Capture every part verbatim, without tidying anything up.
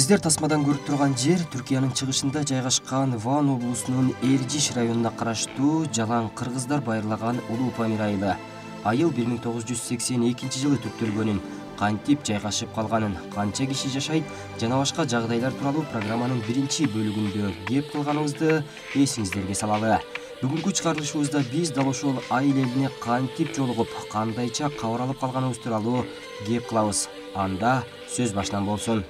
Сиздер тасмадан көрүп турган жер Түркиянын чыгышында жайгашкан Ван облусунун Эржиш районуна караштуу Жалаң кыргыздар байырлаган Улуу Памир айылы. Айыл бир миң тогуз жүз сексен экинчи жылы түптөлгөнүн, кантип жайгашып калганын, канча киши жашайт жана башка жагдайлар тууралуу программанын биринчи бөлүгүндө кеп кылганыбызды эсиңиздерге салалы. Бүгүнкү чыгарылышыбызда биз дал ошол айыл элине кантип жолугуп, кандайча кабар алып калганыбыз тууралуу кеп кылабыз. Анда сөз башынан болсун.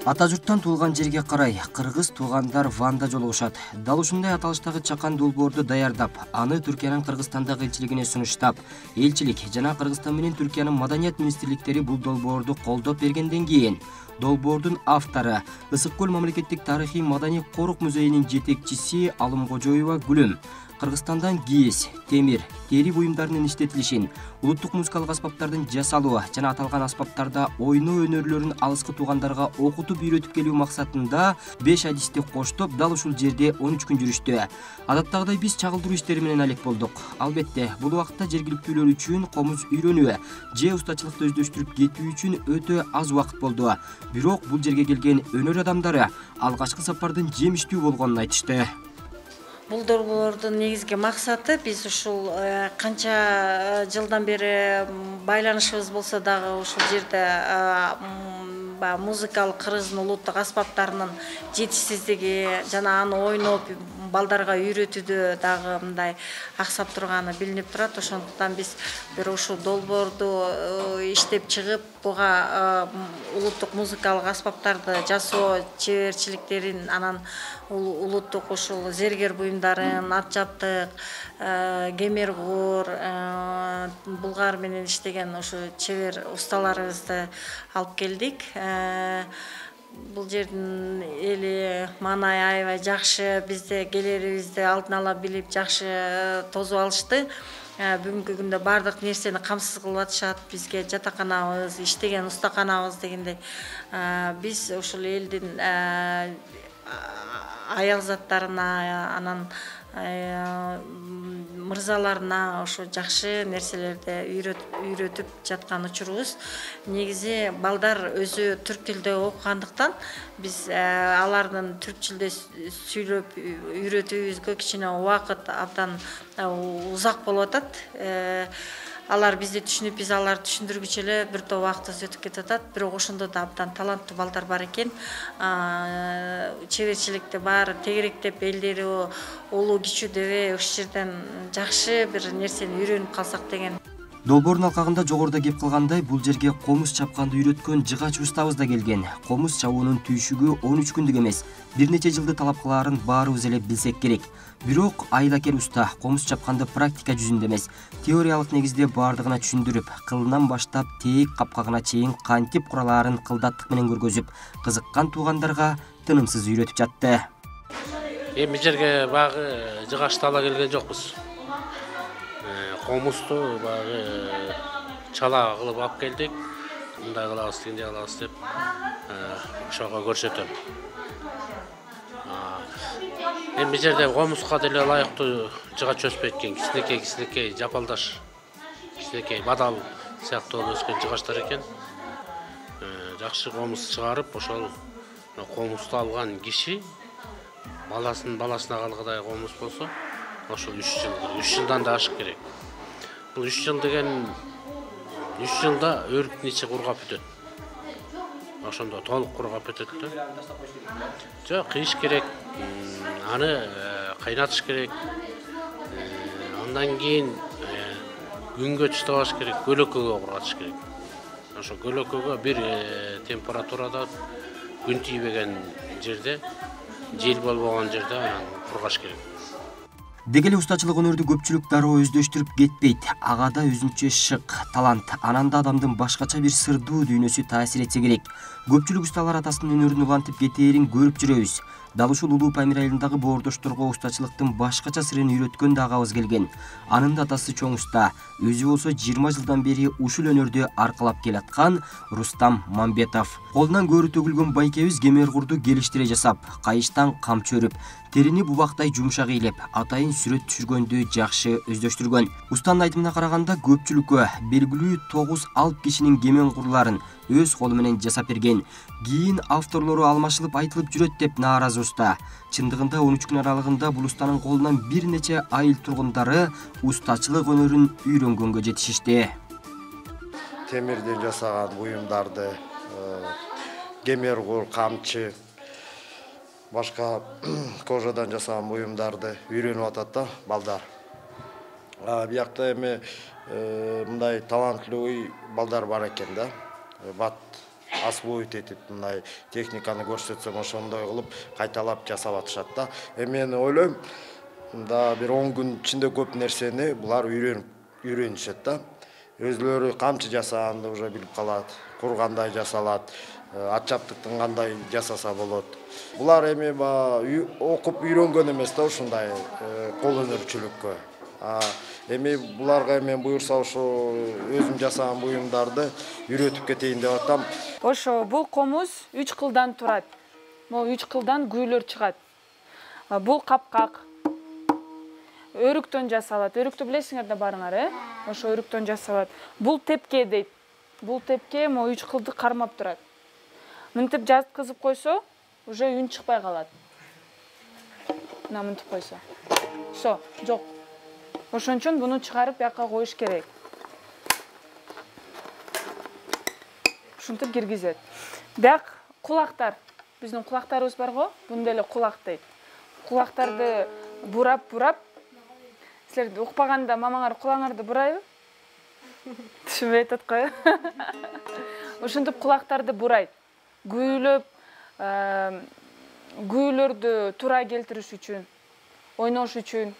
Ата журттан туулган жерге карай кыргыз туугандар Ванда жолугушат. Дал ушундай аталыштагы чакан долбоорду даярдап, аны Түркиянын Кыргызстандагы элчилигине сунуштап, элчилик жана Кыргызстан менен Түркиянын маданият министрликтери бул долбоорду колдоп бергенден кийин долбоордун автору Ысык көл мамлекеттик тарыхый маданий корук музейинин жетекчиси Алымкожоева Гүлүм Кыргызстандан кийиз, темир, тери буюмдарынын иштетилишин, улуттук музыкалык аспаптардын жасалуу жана аталган аспаптарда ойноо өнөрлөрүн алыскы туугандарга окутуп үйрөтүп келүү максатында беш адисти коштоп дал ушул жерде он үч күн жүрүштү. Адаттагыдай биз чагылдыруу иштери менен алек болдук. Албетте, бул убакытта жергиликтүүлөр үчүн комуз үйрөнүү же устачылыкты өздөштүрүп кетүү үчүн өтө аз убакыт болду. Бирок бул жерге келген өнөр адамдары алгачкы сапардын жемиштүү болгонун айтышты. Бул долбоордун негизги максаты биз ушул канча жылдан бери байланышыбыз болсо дагы ушул жерде музыкалык кыргыздын улуттук аспаптарынын жетишсиздиги жана аны ойноп балдарга үйрөтүүдө дагы мындай аксап турганы билинип турат. Ошондуктан биз бир ушул долбоорду иштеп чыгып, буга улуттук музыкалык аспаптарды жасоо чеберчиликтерин, анан улуттук ушул зергер буюмдарын, ат жаптык, кемергор, булгар менен иштеген ушу чебер усталарыбызды алып келдик. Бул жердин эли маанай аябай жакшы, бизде келерибизди алдын ала билип жакшы тосуп алышты. Бүгүнкү күндө бардык нерсени камсыз кылып атышат. Бизге жатаканабыз, иштеген устаканабыз дегендей. Биз ушул элдин аялзаттарына, анан мырзаларына ошо жакшы нерселерди үйрөтүп жаткан учурубуз. Негизи балдар өзү түрк тилде окугандыктан биз алардын түрк тилде сүйлөп үйрөтүүбүзгө кичине убакыт абдан узак болуп атат. Алар бизди түшүнүп, биз аларды түшүндүргүчө эле бир топ убактыбыз өтүп кетип атат. Бирок ошондо да абдан таланттуу балдар бар экен. Чеберчиликти баары тегеректеп, элдери улуу кичүү дебей ушул жерден жакшы бир нерсени үйрөнүп калсак деген. Долбоордун алкагында жогоруда кеп кылгандай, бул жерге комуз чапканды үйрөткөн жыгач устабыз да келген. Комуз чабуунун түйшүгү он үч күндүк эмес, бир нече жылды талап кылаарын баарыбыз эле билсек керек. Бирок айылакер уста комуз чапканды практика жүзүндө эмес, теориялык негизде баардыгына түшүндүрүп, кылынан баштап тээк капкагына чейин кантип куралаарын кылдаттык менен көргөзүп, кызыккан туугандарга тынымсыз үйрөтүп жатты. Эми жерге багы жыгачты ала келген жокпуз. Комузду багы чала кылып алып келдик. Мындай кылабыз, тигиндей кылабыз деп ошого көрсөтөм. Эми жерде комузга деле ылайыктуу жыгач өспөйт экен. Кичинекей кичинекей жапалдаш, кичинекей бадал сыяктуу өскөн жыгачтар экен. Жакшы комуз чыгарып, ошол комузду алган киши баласын баласына калгыдай комуз болсо, ошол үч жыл, үч жылдан да ашык керек. Бул үч жыл деген үч жылда өрүктүн ичи кургап бүтөт. Ошондо толук кургап бүтөт да. Жок, кыйыш керек. Аны кайнатыш керек. Андан кийин күнгө чыдабаш керек, көлөкөгө кургатыш керек. Ошо көлөкөгө бир температурада күн тийбеген жерде, жел болбогон жерде анан кургаш керек. Деги эле устачылык өнөрдү көпчүлүк дароо өздөштүрүп кетпейт. Ага да өзүнчө шык, талант, анан да адамдын башкача бир сырдуу дүйнөсү таасир этсе керек. Көпчүлүк усталар атасынын өнөрүн улантып кетээрин көрүп жүрөбүз. Дал ушул Улуу Памир айылындагы боордошторго устачылыктын башкача сырын үйрөткөн дагы абыз келген. Анын да атасы чоң уста, өзү болсо жыйырма жылдан бери ушул өнөрдү аркалап келаткан Рустам Мамбетов. Колунан көөрү төгүлгөн байкебиз кемер-курду келиштире жасап, кайыштан камчы өрүп, терини бубактай жумшак ыйлеп, атайын сүрөт түшүргөндү жакшы өздөштүргөн. Устанын айтымына караганда көпчүлүккө белгилүү тогуз алп кишинин кемен курларын өз колу менен жасап берген. Кийин авторлору алмашылып айтылып жүрөт деп нааразы уста. Чындыгында он үч күн аралыгында бул устанын колунан бир нече айыл тургундары устачылык өнөрүн үйрөнгөнгө жетишишти. Темирден жасаган буюмдарды, кемер кур, камчы, башка кожадан жасаган буюмдарды үйрөнүп атат да балдар. Биякта эми мындай талантлуу балдар бар экен да. Бат освоить этип мындай техниканы көрсөтсөм ошондой кылып кайталап жасап атышат да. Эми мен ойлойм, да бир он күн ичинде көп нерсени булар үйрөнүп үйрөнүшөт да. Өзлөрү камчы жасаганды уже билип калат, кур кандай жасалат, атчаптыктын кандай жасаса болот. Булар эми окуп үйрөнгөн эмес да ушундай кол өнөрчүлүккө. Эми буларга мен буюрса ошо өзүм жасаган буюмдарды үйрөтүп кетейин деп атам. Ошо бул комуз үч кылдан турат. Могу үч кылдан күүлөр чыгат. Бул капкак өрүктөн жасалат. Өрүктү билесиңер да барыңар, э? Ошо өрүктөн жасалат. Бул тепке дейт. Бул тепке могу үч кылды кармап турат. Мынтип жаткызып койсо, уже үн чыкпай калат. Мына мынтип койсо. Всё, жок. Ошон үчүн буну чыгарып бияка коюш керек. Ушинтип киргизет. Бияк кулактар. Биздин кулактарыбыз бар го, буну деле кулак дейт. Кулактарды бурап-бурап, силер укпаганда мамаңар кулаңарды бурайбы? Түшүнбөй атат го. Ошентип кулактарды бурайт. Күүлөп, күүлөрдү туура келтириш үчүн, ойнош үчүн.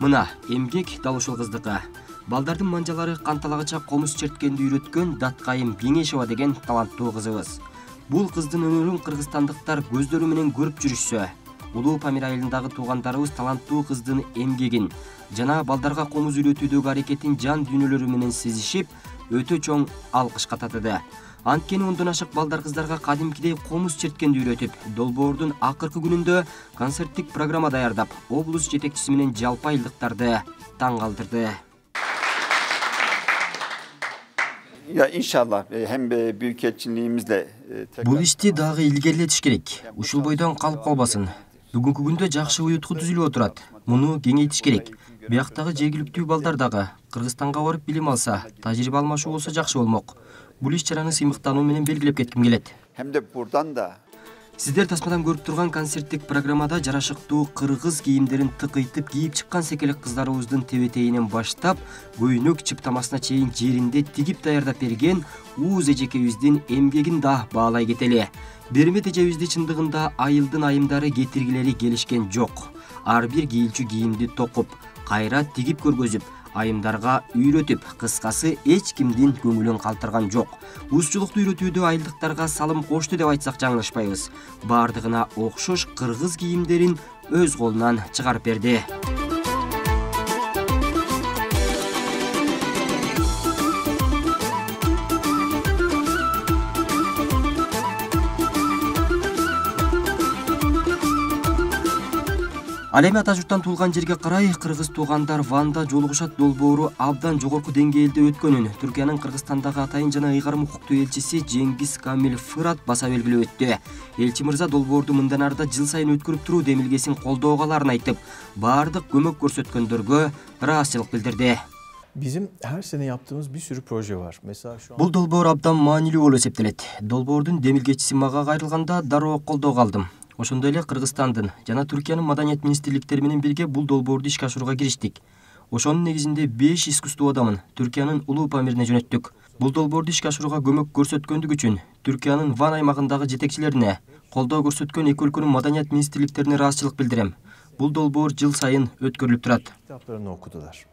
Мына эмгек дал ушул кыздыкы. Балдардын манжалары канталагыча комуз черткенди үйрөткөн Даткайым Кеңешова деген таланттуу кызыбыз. Бул кыздын өнөрүн кыргызстандыктар көздөрү менен көрүп жүрүшсө, Улуу Памир айылындагы туугандарыбыз таланттуу кыздын эмгегин жана балдарга комуз үйрөтүүдөгү аракетин жан дүйнөлөрү менен сезишип, өтө чоң алкышка татыды. Анткени ондон ашык балдар кыздарга кадимкидей комуз черткенди үйрөтүп, долбоордун акыркы күнүндө концерттик программа даярдап, облус жетекчиси менен жалпы айылдыктарды таң калтырды. Ya inşallah hem büyükelçiliğimizle Бул ишти дагы илгерилетиш керек. Ушул бойдон калып калбасын. Бүгүнкү күндө жакшы уютку түзүлүп отурат. Муну кеңейтиш керек. Бияктагы жергиликтүү балдар дагы Кыргызстанга барып билим алса, тажрыйба алмашуу болсо жакшы болмок. Бул иш-чараны сыймыктануу менен белгилеп кетким келет. Hem de buradan da Сиздер тасмадан көрүп турган концерттик программада жарашыктуу кыргыз кийимдерин тыкыйтып кийип чыккан секелек кыздарыбыздын тебетейинен баштап, көйнөк чыптамасына чейин жеринде тигип даярдап берген Ууз эжекебиздин эмгегин да баалай кетели. Бермет эжебизди чындыгында айылдын айымдары кетиргилери келишкен жок. Ар бир кийилчү кийимди токуп, кайра тигип көргөзүп, айымдарга үйрөтүп, кыскасы эч кимдин көңүлүн калтырган жок. Узчулукту үйрөтүүдө айылдыктарга салым кошту деп айтсак жаңылышпайбыз. Бардыгына окшош кыргыз кийимдерин өз колунан чыгарып берди. Ал эми ата журттан туулган жерге карай кыргыз туугандар Ванда жолугушат долбоору абдан жогорку деңгээлде өткөнүн Түркиянын Кыргызстандагы атайын жана ыйгарым укуктуу элчиси Жеңгиз Камил Фырат баса белгилеп өттү. Элчи мырза долбоорду мындан арда жыл сайын өткөрүп туруу демилгесин колдоого аларын айтып, баардык көмөк көрсөткөндөргө ыраазычылык билдирди. Bizim her sene yaptığımız bir sürü proje var. Mesela şu an Бул долбоор абдан маанилүү болуп эсептелет. Долбоордун демилгечиси мага кайрылганда дароо колдоого алдым. Ошондой эле Кыргызстандын жана Түркиянын маданият министрликтери менен бирге бул долбоорду ишке ашырууга кириштик. Ошонун негизинде беш искусство адамын Түркиянын Улуу Памирине жөнөттүк. Бул долбоорду ишке ашырууга көмөк көрсөткөндүк үчүн Түркиянын Ван аймагындагы жетекчилерине, колдоо көрсөткөн эки өлкөнүн маданият министрликтерине ыраазычылык билдирем. Бул долбоор жыл сайын өткөрүлүп турат. kitaplarını okudular.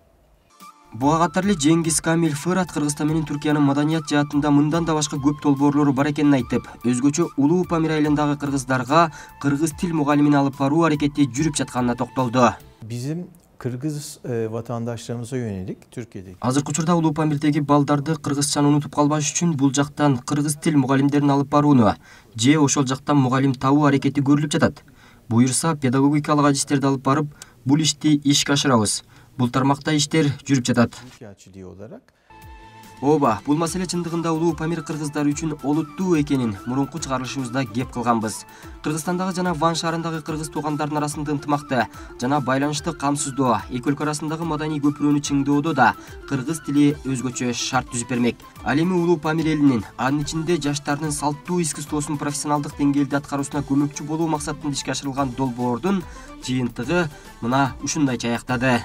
Буга катар эле Жеңгиз Камил Фырат Кыргызстан менен Түркиянын маданият жаатында мындан да башка көп долбоорлору бар экенин айтып, өзгөчө Улуу Памир айылындагы кыргыздарга кыргыз тил мугалимин алып баруу аракети жүрүп жатканына токтолду. Bizim Kırgız e, vatandaşlarımıza yönelik Türkiye'deki Азыркы учурда Улуу Памирдеги балдарды кыргызчаны унутуп калбаш үчүн бул жактан кыргыз тил мугалимдерин алып барууну же ошол жактан мугалим табуу аракети көрүлүп жатат. Буюрса педагогикалык адистерди алып барып, бул ишти ишке ашырабыз. Бул тармакта иштер жүрүп жатат. Türkiye'çiliği olarak Ооба, бул маселе чындыгында Улуу Памир кыргыздары үчүн олуттуу экенин мурунку чыгарылышыбызда кеп кылганбыз. Кыргызстандагы жана Ван шаарындагы кыргыз туугандардын арасында ынтымакты жана байланышты камсыздоо, эки өлкө арасындагы маданий көпүрөнү чыңдоодо да кыргыз тили өзгөчө шарт түзүп бермек. Ал эми Улуу Памир элинин, анын ичинде жаштардын салттуу искусствосун профессионалдык деңгээлде аткаруусуна көмөкчү болуу максатында ишке ашырылган долбоордун жыйынтыгы мына ушундайча аяктады.